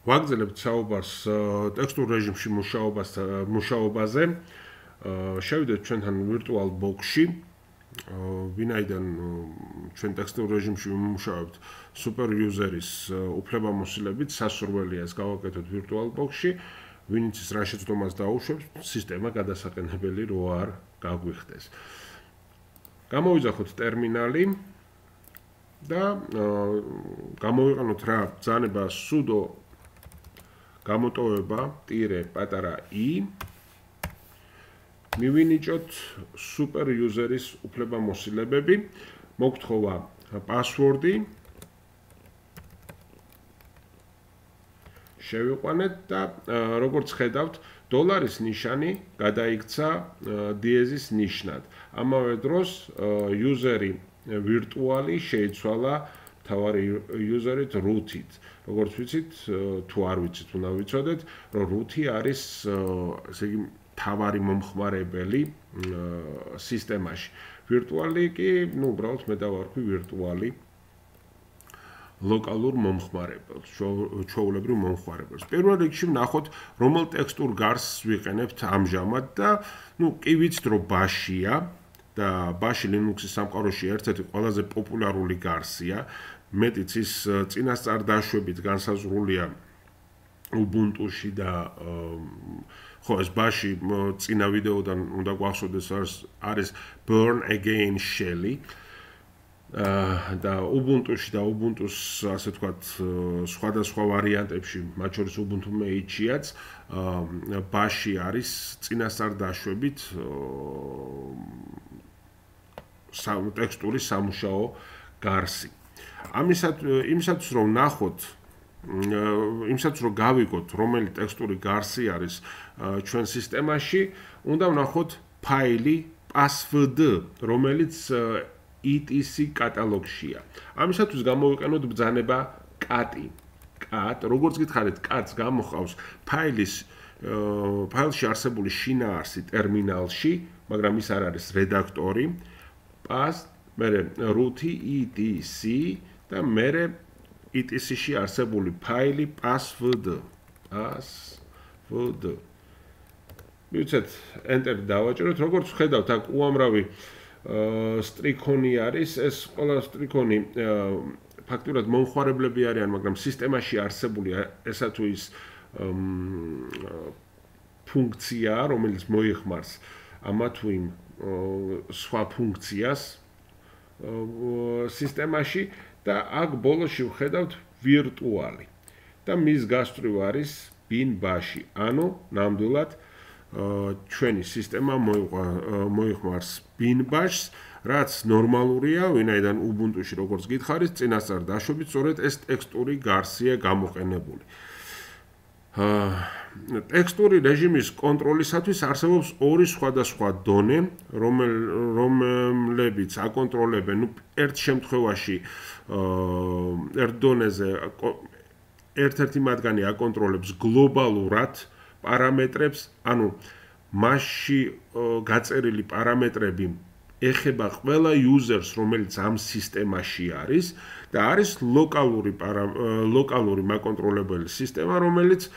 ვაგრძელებთ საუბარს ტექსტურ რეჟიმში მუშაობაზე. შევიდეთ ჩვენთან ვირტუალ ბოქსში. ვინაიდან ჩვენ ტექსტურ რეჟიმში ვიმუშავებთ სუპერ იუზერის უფლებამოსილებით, სასურველია ეს გავაკეთოთ ვირტუალ ბოქსში. ვინც ის რა შეცდომას დაუშვებს, სისტემა გადასაყენებელი რო არ გაგვიხდეს. გამოვიძახოთ ტერმინალი და გამოვიყენოთ რა ბრძანება sudo გამოტოვება ტირე პატარა i მივინიჭოთ super user-ის უფლებამოსილებები, მოგთხოვა password-ი შევიყვანეთ და როგორც ხედავთ, დოლარის ნიშანი გადაიქცა დიეზის ნიშნად. ამავე დროს user-ი ვირტუალი შეიცვალა თავარი user-ით root-ით. როგორც ვიცით, თუ არ ვიცით, უნდა ვიცოდეთ, რომ root-ი არის ესე იგი თავარი მომხმარებელი სისტემაში. ვირტუალი კი, უბრალოდ მე დავარქვი ვირტუალი ლოკალურ მომხმარებელს, ჩვეულებრივ მომხმარებელს. პირველ რიგში ვნახოთ, რომელ ტექსტურ გარსს ვიყენებთ ამჟამად და კი ვიცით, რომ ბაშია და ბაში Linux-ის სამყაროში ერთ-ერთი ყველაზე პოპულარული გარსია. მეტიც ის წინასწარ დაშვებით განსაზღვრულია Ubuntu-ში და ხო ეს ბაში წინა ვიდეოდან უნდა გვახსოვდეს არის Burn Again Shell-ი და Ubuntu-ში და Ubuntu-s ასე ვთქვათ სხვადასხვა ვარიანტებში, მათ შორის Ubuntu Mate-შიაც ბაში არის წინასწარ დაშვებით ტექსტური სამუშაო გარსი. იმისათვის რომ ვნახოთ იმისათვის რომ გავიგოთ რომელი ტექსტური გარსი არის ჩვენ სისტემაში, უნდა ვნახოთ ფაილი passwd, რომელიც etc კატალოგშია. ამისათვის გამოვიყენოთ ბრძანება cat. როგორც გითხარით, cat-ს გამოხავს ფაილში არსებული შინაარსი ტერმინალში, მაგრამ ის არ არის რედაქტორი. pass, მერე root-ი etc და მერე etc-ში არსებული ფაილი passwd. მივცეთ enter-ი დავაჭეროთ. როგორც ხედავთ, აქ უამრავი სტრიქონი არის. ეს ყველა სტრიქონი ფაქტურად მომხმარებლები არიან, მაგრამ სისტემაში არსებული ესა თუ ის ფუნქცია, რომელიც მოიხმარს ამა თუ იმ სხვა ფუნქციას სისტემაში და აქ ბოლოში ვხედავთ ვირტუალი და მის გასწვრივ არის bin bash-ი. ანუ ნამდვილად ჩვენი სისტემა მოიხმარს bin bash-ს, რაც ნორმალურია, ვინაიდან Ubuntu-ში როგორც გითხარით, წინასწარ დაშვებით, სწორედ ეს ტექსტური გარსია გამოყენებული. ტექსტური რეჟიმის კონტროლისათვის არსებობს ორი სხვადასხვა დონე, რომლებიც აკონტროლებენ ერთ შემთხვევაში ერთ დონეზე ერთ-ერთი მათგანი აკონტროლებს გლობალურად პარამეტრებს, ანუ მასში გაწერილი პარამეტრები ეხება ყველა users, რომელიც ამ სისტემაში არის და არის ლოკალური მაკონტროლებელი სისტემა, რომელიც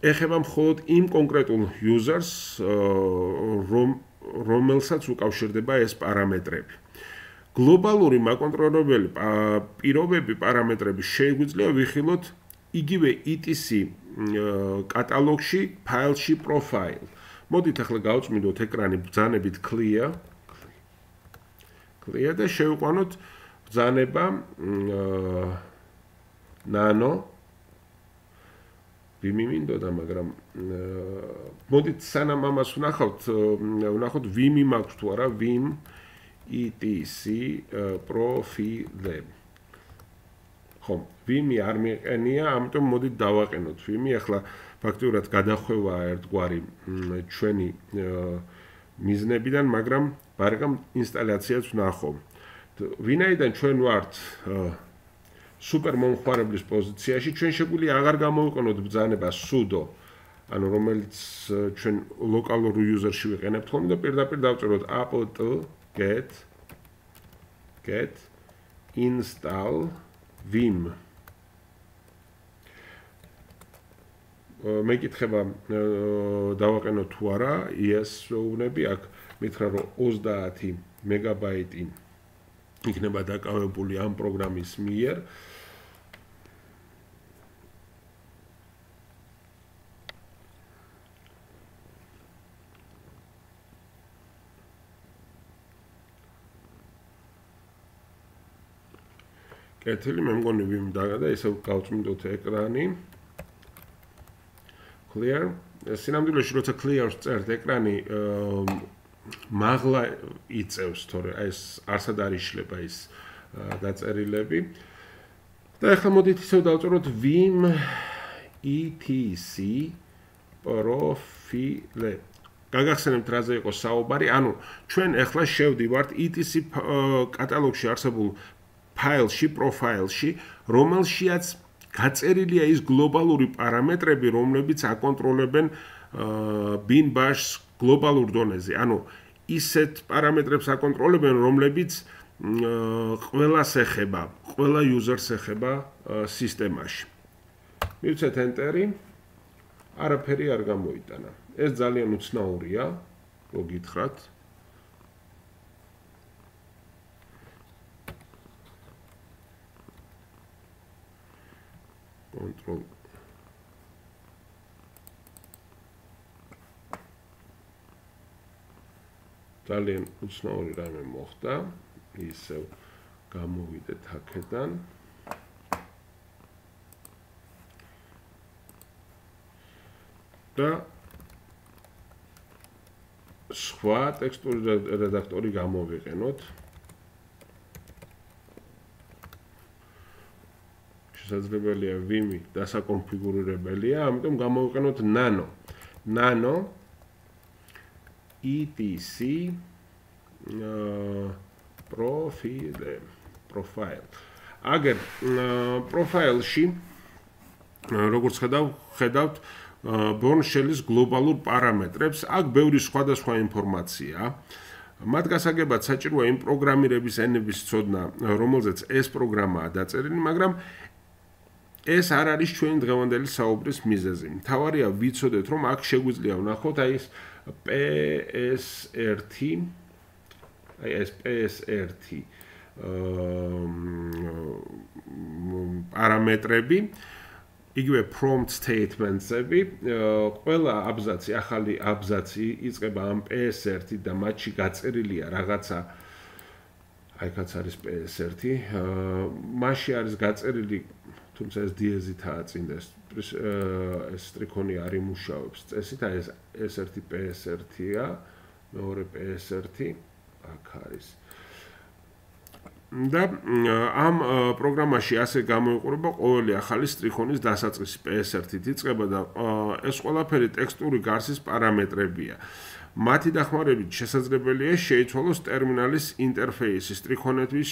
ეხება მხოლოდ იმ კონკრეტულ users, რომელსაც უკავშირდება ეს პარამეტრები. გლობალური მაკონტროლებელი პირობები პარამეტრები შეგვიძლია ვიხილოთ იგივე etc კატალოგში, ფაილში profile. მოდით ახლა გავწმინდოთ ეკრანი ბრძანებით clear და შევიყვანოთ ბრძანება nano ვიმიმინდოდა, მაგრამ მოდით სანამ ამას ვნახოთ vim მაქვს თუ არა, vim etc profile. ხო, vim-ი არ მიეყენია, ამიტომ მოდით დავაყენოთ vim-ი. ახლა ფაქტიურად გადახვევა ერთგვარი ჩვენი მიზნებიდან, მაგრამ ბარგამ ინსტალაციაც ვნახო. ვინაიდან ჩვენ ვართ სუპერ მომხმარებლის პოზიციაში, ჩვენ შეგვიძლია აღარ გამოვიყენოთ ბრძანება sudo, ანუ რომელიც ჩვენ ლოკალურ user-ში ვიყენებთ ხოლმე და პირდაპირ დავწეროთ apt get install vim. მეკითხება დავაყენო თუ არა ES-ოვნები, აქ მითხრა რომ 30 მეგაბაიტი იქნება დაკავებული ამ პროგრამის მიერ. კეთილი, მე მგონი ვიმ და ისევ გავწმინდოთ ეკრანი. Clear. სინამდვილეში როცა clear-ს წერთ ეკრანი მაღლა იწევს, თორე ეს არსად არ იშლება ის დაწერილები. და ახლა მოდით ისევ დავწეროთ vim etc profile. გაგახსენებთ რაზე იყო საუბარი, ანუ ჩვენ ახლა შევდივართ etc კატალოგში არსებულ ფაილში, პროფაილში, რომელშიაც გაწერილია ის გლობალური პარამეტრები, რომლებიც აკონტროლებენ bin bash-ს გლობალურ დონეზე. ანუ ისეთ პარამეტრებს აკონტროლებენ, რომლებიც ყველას ეხება, ყველა user-ს ეხება სისტემაში. მივცეთ enter-ი. არაფერი არ გამოიტანა. ეს ძალიან უცნაურია, რო გითხრათ. Control ძალიან უცნაური რამე მოხდა, ისევ გამოვიდეთ აქედან. და სხვა ტექსტური რედაქტორი გამოვიყენოთ. შესაძლებელია Vim-ი დასაკონფიგურირებელია, ამიტომ გამოვიყენოთ Nano. Nano etc profile. აგერ პროფაილში როგორც ხედავთ Bourne Shell-ის გლობალურ პარამეტრებს, აქ ბევრი სხვადასხვა ინფორმაცია. მათ გასაგებად საჭიროა იმ პროგრამირების ენების ცოდნა, რომელზეც ეს პროგრამაა დაწერილი, მაგრამ ეს არ არის ჩვენი დღევანდელი საუბრის მიზეზი. მთავარია ვიცოდეთ, რომ აქ შეგვიძლია ვნახოთ აი ეს PS1, აი ეს PS1 პარამეტრები, იგივე prompt statements-ები, ყველა აბზაცი, ახალი აბზაცი იწყება ამ PS1 და მათში გაწერილია რაღაცა, აი კაც არის PS1, მასში არის გაწერილი, თუმცა ეს დიეზითაა წინ და ეს ტრიქონი არ იმუშავებს წესით, აი ეს S1 PS1-ია, მეორე PS1, აქ არის. და ამ პროგრამაში ასე გამოიყურება ყოველი ახალი სტრიქონის დასაწყისი PS1-ით იწყება და ეს ყველაფერი ტექსტური გარსის პარამეტრებია. მათი დახმარებით შესაძლებელია შეიცვალოს ტერმინალის ინტერფეისი, სტრიქონების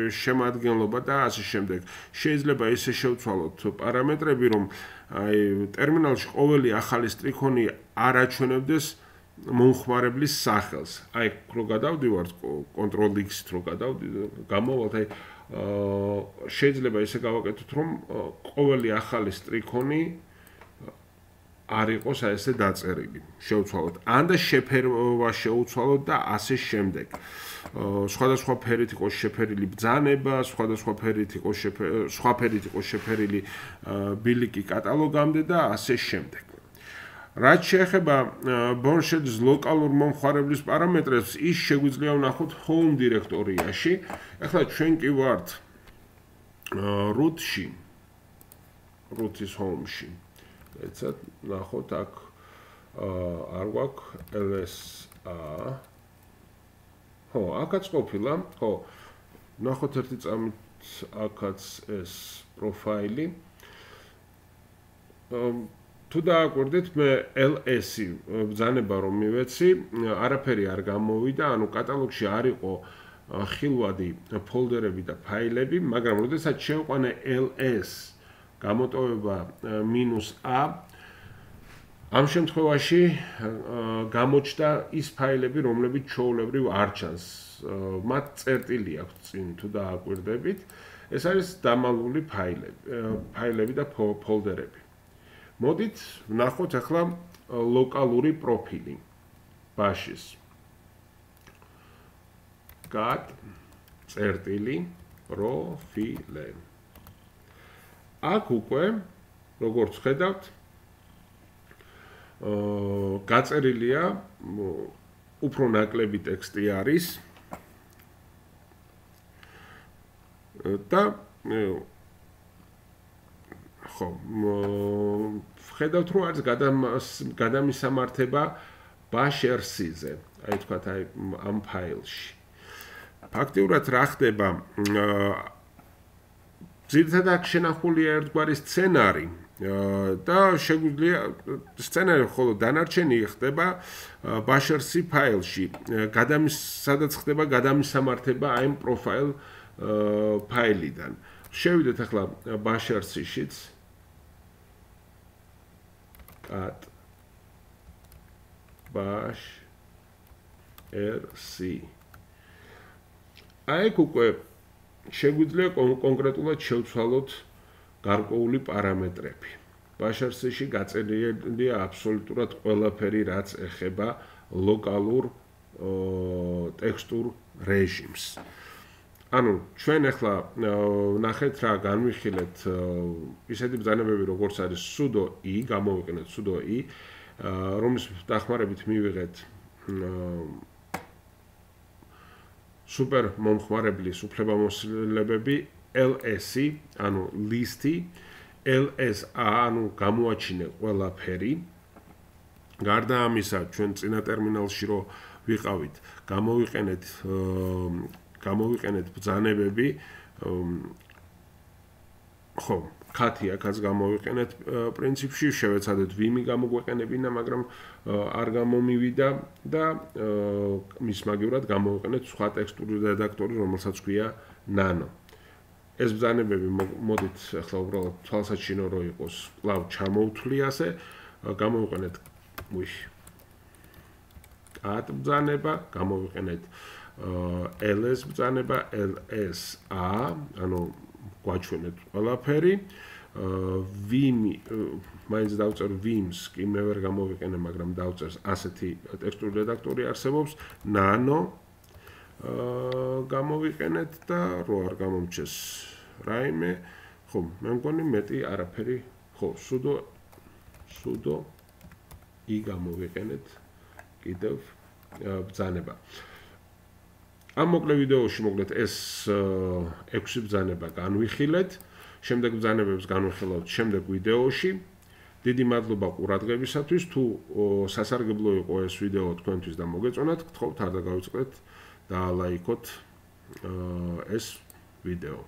შემადგენლობა და ასე შემდეგ. შეიძლება ისე შევცვალოთ პარამეტრები, რომ აი ტერმინალში ყოველი ახალი სტრიქონი არ აჩვენებდეს მომხმარებლის სახელს. აი, რო გადავდივართ Ctrl-X-ით რო გამოვალთ, აი შეიძლება ისე გავაკეთოთ, რომ ყოველი ახალი სტრიქონი არ იყოს აი ესე დაწერილი. შევცვალოთ. ან და შეფერვა შევცვალოთ და ასე შემდეგ. სხვადასხვა ფერით იყოს შეფერილი ბრძანება, სხვადასხვა ფერით იყოს შეფერილი ბილიკი კატალოგამდე და ასე შემდეგ. რაც შეეხება Bourne Shell-ის ლოკალურ მომხმარებლის პარამეტრებს, ის შეგვიძლია ვნახოთ home დირექტორიაში. ახლა ჩვენ კი ვართ root-ში, root-ის home-ში. ეცად ვნახოთ აქ არ გვაქვს ls-a. ხო, აქაც ყოფილა, ხო. ვნახოთ ერთი წამით აქაც ეს პროფაილი. თუ დააკვირდით, მე ls-ი ბრძანება რომ მივეცი, არაფერი არ გამოვიდა, ანუ კატალოგში არ იყო ხილვადი ფოლდერები და ფაილები, მაგრამ როდესაც შევყვანე ls გამოტოვება -a, ამ შემთხვევაში გამოჩნდა ის ფაილები, რომლებიც ჩვეულებრივ არ ჩანს. მათ წერტილი აქვს წინ თუ დააკვირდებით. ეს არის დამალული ფაილები და ფოლდერები. მოდით ვნახოთ ახლა ლოკალური პროფილი ბაშის. gat წერტილი პროფილე. აქ უკვე როგორც ხედავთ გაწერილია უფრო ნაკლები ტექსტი არის და ხო ხედავთ რომ არის გადამისამართება ბაშერსიზე აი თქვათ აი ამ ფაილში ფაქტიურად რა ხდება ძირითადად აქ შენახულია ერთგვარი სცენარი და შეგვიძლია სცენარი ხოლო დანარჩენი ხდება ბაშერსი ფაილში სადაც ხდება გადამისამართება აი ამ პროფაილ ფაილიდან შევიდეთ ახლა ბაშერსიშიც cat bash rc აი უკვე შეგვიძლია კონკრეტულად შევცვალოთ გარკვეული პარამეტრები. ბაშერსში გაწერილია აბსოლუტურად ყველაფერი, რაც ეხება ლოკალურ ტექსტურ რეჟიმს. ანუ ჩვენ ახლა ნახეთ რა განვიხილეთ ისეთი ბრძანებები როგორც არის sudo i, გამოვიყენეთ sudo i, რომლის დახმარებით მივიღეთ სუპერ მომხმარებლის უფლებამოსილებები ls-ი, ანუ list-ი, ls-a, ანუ გამოაჩინე ყველაფერი. გარდა ამისა, ჩვენ წინა ტერმინალში რო ვიყავით, გამოვიყენეთ ბრძანებები, ხო, cat-ი აქაც გამოვიყენეთ პრინციპში, შევეცადეთ vim-ი გამოგვეყენებინა, მაგრამ არ გამომივიდა და მის მაგივრად გამოვიყენეთ სხვა ტექსტური რედაქტორი, რომელსაც ქვია nano. ეს ბრძანებები მოდით ახლა უბრალოდ თვალსაჩინო რო იყოს, კვლავ ჩამოვთვლი ასე, გამოვიყენეთ cat ბრძანება, გამოვიყენეთ ls ბრძანება, ls-a, ანუ გვაჩვენეთ ყველაფერი, vim-ი, მაინც დავწერ vim-ს, კი მე ვერ გამოვიყენე, მაგრამ დავწერს ასეთი ტექსტური რედაქტორი არსებობს, nano გამოვიყენეთ და რო არ გამომჩეს რაიმე, ხო, მე მგონი მეტი არაფერი, ხო, sudo i გამოვიყენეთ კიდევ ბრძანება. ამ მოკლე ვიდეოში მოკლედ ეს 6 ბრძანება განვიხილეთ, შემდეგ ბრძანებებს განვიხილავთ შემდეგ ვიდეოში. დიდი მადლობა ყურადღებისათვის, თუ სასარგებლო იყო ეს ვიდეო თქვენთვის და მოგეწონათ, გთხოვთ არ დაგავიწყდეთ და ლაიქოთ ეს ვიდეო.